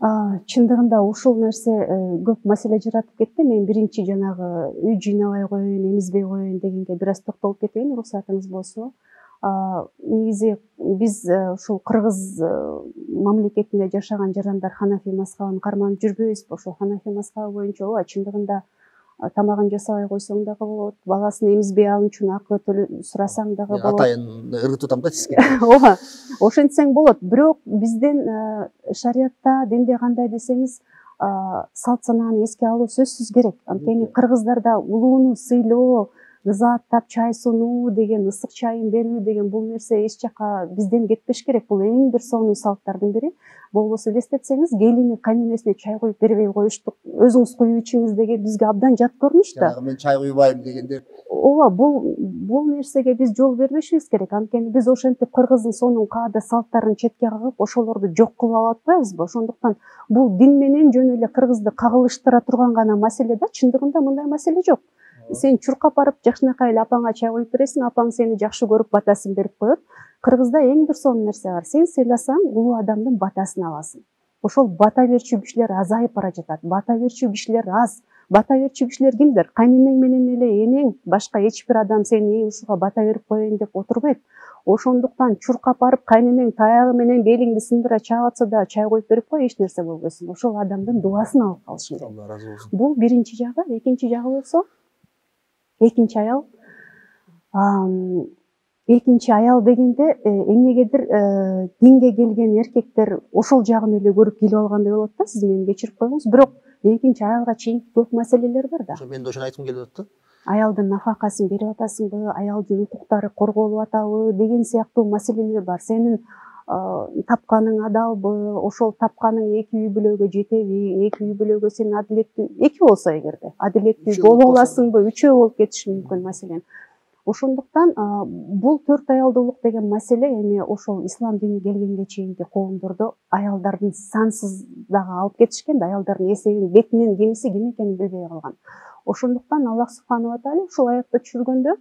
Чындыгында ушул нерсе көп маселе жаратып кетти. Мен биринчи жанагы үй жыйнабай коеюн, эмизбей коеюн дегенге бир аз токтолуп кетейин, уруксатыңыз болсо. Негизи биз ушул кыргыз мамлекетинде жашаган жарандар Ханафи мазхабын карманып жүрбөйбүзбү? Ошол Ханафи мазхабы боюнча ооба, чындыгында тамагын жасабай койсоң дагы болот, баласын эмизбей алуу үчүн акы сурасаң дагы болот. Атайын ыргытып атам да сизге. Ооба, ошентсең болот. Бирок биздин шариятта, динде кандай десеңиз, салт санааны эске алуу сөзсүз керек. Анткени кыргыздарда улууну сыйлоо, ыза аттап чай сунуу деген, ысык чайын берүү деген бул нерсе эч жака бизден кетпеш керек. Бул эң бир сонун салттардын бири. Болбосо элестетсеңиз, келини кайненесине чай куюп бербей коюштук. Өзүңүз куюп ичиңиз деген бизге абдан жат көрүнүш да. Мен чай куйбайм дегендер. Ооба, бул нерсеге биз жол бербешибиз керек. Анткени биз ошентип кыргыздын сонун каада салттарын четке кагып, ошолорду жок кылып алып атпайбызбы? Ошондуктан бул дин менен жөн эле кыргызды кагылыштыра турган гана маселе да. Чындыгында мындай маселе жок. Сен чуркап барып жакшынакай эле апаңа чай куюп бересиң, апаң сени жакшы көрүп батасын берип коет. Кыргызда эң бир сонун нерсе бар. Сен сыйласаң, улуу адамдын батасын аласың. Ошол бата берчү кишилер азайып бара жатат. Бата берчү кишилер аз. Бата берчү кишилер кимдер? Кайненең менен эле энең, башка эч бир адам сени ушуга бата берип коеюн деп отурбайт. Ошондуктан чуркап барып кайненең таягы менен белиңди сындыра чаап атса да чай куюп берип кой, эч нерсе болбойсуң. Ошол адамдын дуасын алып калышың керек. Алла разы болсун. Бул биринчи жагы. Экинчи жагы болсо, экинчи аял дегенде эмнегедир динге келген эркектер ошол жагын эле көрүп келип алгандай болот да. Сиз мени кечирип коюңуз. Бирок экинчи аялга чейин көп маселелер бар да. Мен да ошону айткым келип атат да. Аялдын нафакасын берип атасыңбы, аялдын укуктары корголуп атабы деген сыяктуу маселелер бар. Сенин тапканың адалбы, ошол тапканың эки үй бүлөгө жетеби, эки үй бүлөгө сен адилеттүү, эки болсо эгерде адилеттүү боло аласыңбы, үчөө болуп кетиши мүмкүн маселен. Ошондуктан бул төрт аялдуулук деген маселе эми ошол ислам дини келгенге чейинки коомдордо аялдардын сансыз дагы алып кетишкен да, аялдардын эсебин бетинен кимиси ким экенин билбей калган. Ошондуктан Аллах субханала тааля ушул аятты түшүргөндө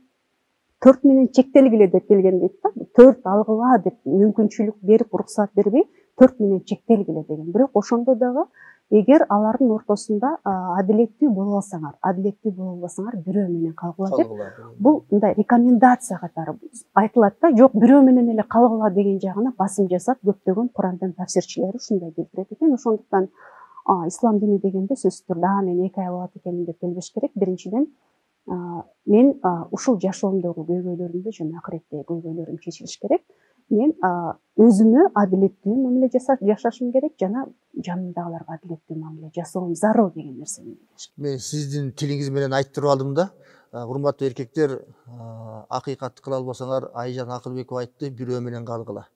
4 менен чектелгиле деп келген дейт да. 4 алгыла деп мүмкүнчүлүк берип, уруксат бербей, 4 менен чектелгиле деген. Бирок ошондо дагы эгер алардын ортосунда адилеттүү боло алсаңар, адилеттүү боло албасаңар, бирөө менен калгыла деп. Бул мындай рекомендация катары айтылат да. Жок, бирөө менен эле калгыла деген жагына басым жасап, көптөгөн Курандын тафсирчилери ушундай келтирет экен. Ошондуктан ислам дини дегенде сөзсүз түрдө мен эки аял болот экенмин деп келбеш керек. Биринчиден, мен ушул жашоомдогу көйгөйлөрүмдү жана акыреттеги көйгөйлөрүм чечилиш керек. Мен өзүмө адилеттүү мамиле жашашым керек жана жанымдагыларга адилеттүү мамиле жасоом зарыл деген нерсени билиш керек. Мен сиздин тилиңиз менен айтып алдым да. Урматтуу эркектер, акыйкатты кыла албасаңар, Айжан Акылбекова айтты, бирөө менен калгыла.